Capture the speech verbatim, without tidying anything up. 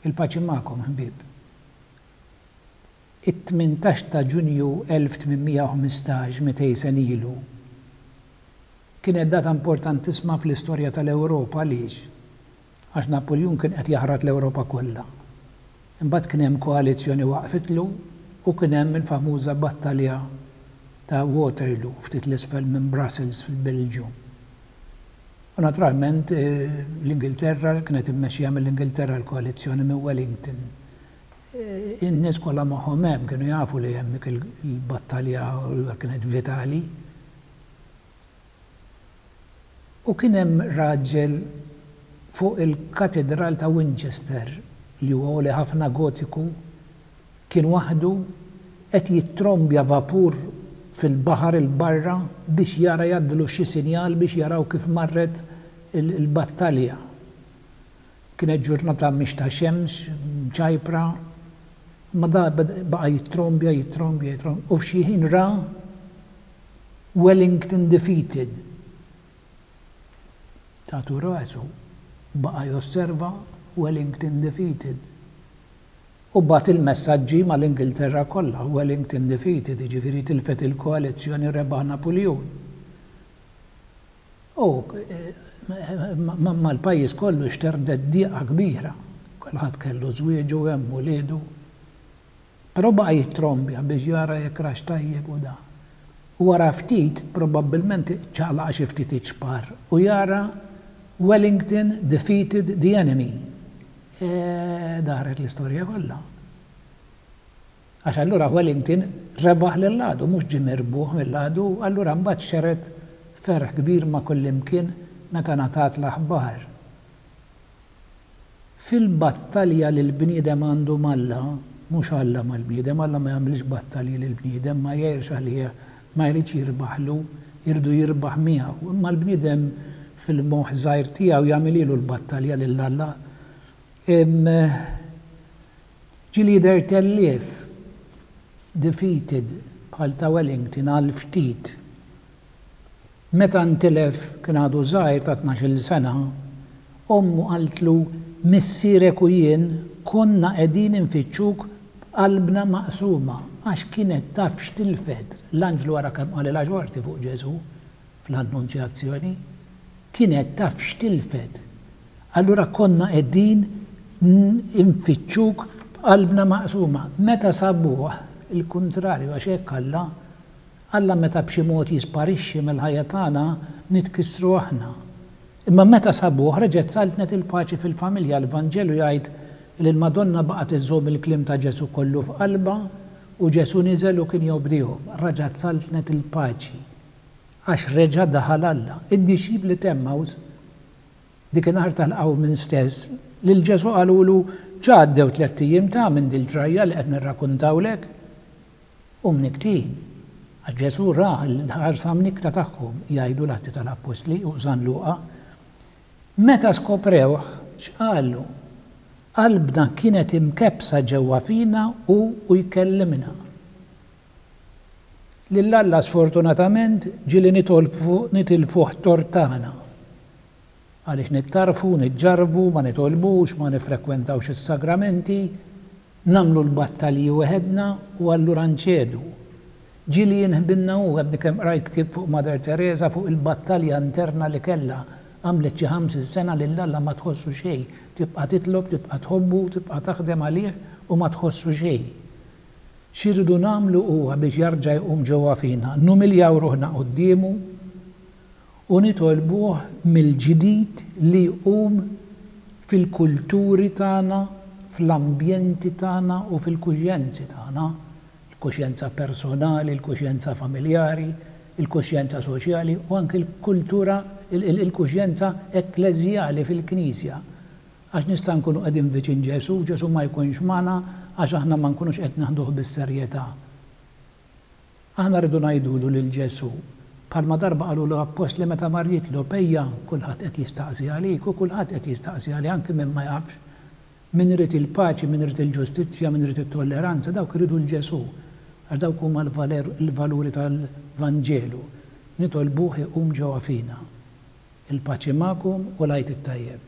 Il-paċi magħkom, ħbieb. It-tmintax ta' Ġunju elf tmien mija u ħmistax, mitejn sena ilu, kienet data importantissima fl-istorja tal-Ewropa. Għaliex? Għax Napoleon kien qed jaħrat l-Ewropa kollha. Imbagħad kien hemm koalizzjoni waqfitlu u kien hemm il-famuża battalja ta' Waterloo, ftit l-isfel minn Brussels fil-Belġju. U naturalment eh, l-Ingilterra kienet immexxija mill-Ingilterra, l-koalizzjoni minn Wellington. Eh, in-nies kollha magħhom hemm kienu jafu li hemm dik il-battalja kienet vitali. U kien hemm raġel fuq il-katedral ta' Winchester, li huwa għoli ħafna, gotiku, kien waħdu qed jittrombja vapur fil-baħar il-barra biex jara jgħaddilu xi sinjal biex jaraw kif marret il-battalja. Kienet ġurnata mhix ta' xemx, ċajpra, ma da baqa' jittrombja, jittrombja, jittrombja, u f'xi ħin ra "Wellington defeated". Tatu rasu, baqa' josserva "Wellington defeated". U bagħat il-messaġġi mal-Ingilterra kollha, "Wellington defeated", jiġifieri tilfet il-koalizzjoni, rebaħ Napoleon. U mal-pajjiż kollu xterdet diqa kbira. Kulħadd kellu żwieġu hemm, uliedu. Però baqa' jittrombja biex jara jekk rax tajjeb u da. U wara ftit, probabbilment ċaqlaq xi ftit iċpar u jara "Wellington defeated the enemy". E, daret l-istorja kollha. Għax allura Wellington rebaħ lill-għadu, mhux ġie mirbuħ mill-għadu, allura mbagħad xered ferħ kbir ma' kullimkien meta ngħatat l-aħbar. Fil-battalja li l-bniedem għandu m'Alla, mhux Alla mal-bniedem, Alla ma jagħmilx battalji lill-bniedem, ma jgħirx għalih, ma jridx jirbaħlu, jridu jirbaħ miegħu. Imma l-bniedem fil-moħħ żgħir tiegħu jagħmililu l-battalja lil Alla. Ġieli jidher tellief, defeated, bħal ta' Wellington għal ftit. Meta ntilef, kien għadu żgħir ta' tnax-il sena, ommu qaltlu: "Missierek u jien konna qegħdin infittxuk b'qalbna maqsuma", għax kienet taf x'tilfet. L-anġlu wara kemm qalilha xorti fuq Ġesù fl-Annunzjazzjoni, kienet taf x'tilfet. Allura "konna qegħdin infittxuk b'qalbna maqsuma". Meta sabuh, il-kuntrarju, għax hekk Alla, Alla meta b'xi mod jisparixxi mill-ħajja tagħna nitkissru aħna. Imma meta sabuh reġgħet saltnet il-paċi fil-familja. L-Vanġelu jgħid li l-Madonna baqgħet iżżomm il-kliem ta' Ġesù kollu f'qalbha u Ġesù niżel u kien jobdihom. Reġgħet saltnet il-paċi għax reġa' daħal Alla. Id-dixxipli t'Emmaus, dikinhar tal-qawmien stess, lil Ġesù qalulu: "Ġa għaddew tlett ijiem ta' minn dil-ġrajja li qed nirrakkuntawlek." U mnikktin. Għax Ġesù ra l-ħarsa mnikkta tagħhom, jgħidu l-Atti tal-Appostli u San Luqa. Meta skoprewh, x'qalu? "Qalbna kienet imkebbsa ġewwa fina u u jkellimna." Lil Alla sfortunatament ġieli nitilfuh tort tagħna. Għaliex nittarfu, niġġarbu, ma nitolbux, ma nifrekwentawx is-sagramenti, nagħmlu l-battalji weħedna u allura nċedu. Ġieli jinħbilna u għadni kemm qrajt ktieb fuq Mother Teresa, fuq il-battalja interna li kellha. Għamlet xi ħamsin sena lil Alla ma tħossu xejn. Tibqa' titlob, tibqa' tħobbu, tibqa' taħdem għalih u ma tħossu xejn. X'irridu nagħmlu huwa biex jarġa' jqum ġewwa fina, numiljaw ruħna quddiemu u nitolbuh mill-ġdid li jqum fil-kulturi tagħna, fl-ambjenti tagħna u fil-kuxjenzi tagħna. Il-kuxjenza personali, il-kuxjenza familjari, il-kuxjenza soċjali u anke l-kultura, il-kuxjenza ekkleżjali fil-Knisja. Għax nista' nkunu qegħdin viċin Ġesù, Ġesù ma jkunx magħna għax aħna ma nkunux qed naħduh bis-serjetà. Aħna rridu ngħidulu lil Ġesù, bħalma darba qalu l-appostli meta mar jitlob: "Ejja, kulħadd qed jistaqsi għalik", u kulħadd qed jistaqsi għalik, anke min ma jafx. Min irid il-paċi, min irid il-ġustizzja, min irid it-tolleranza, dawk iridu 'l Ġesù. Għax dawk huma l-valuri tal-Vanġelu. Nitolbuh iqum ġewwa fina. Il-paċi magħkom u l-Għid it-tajjeb.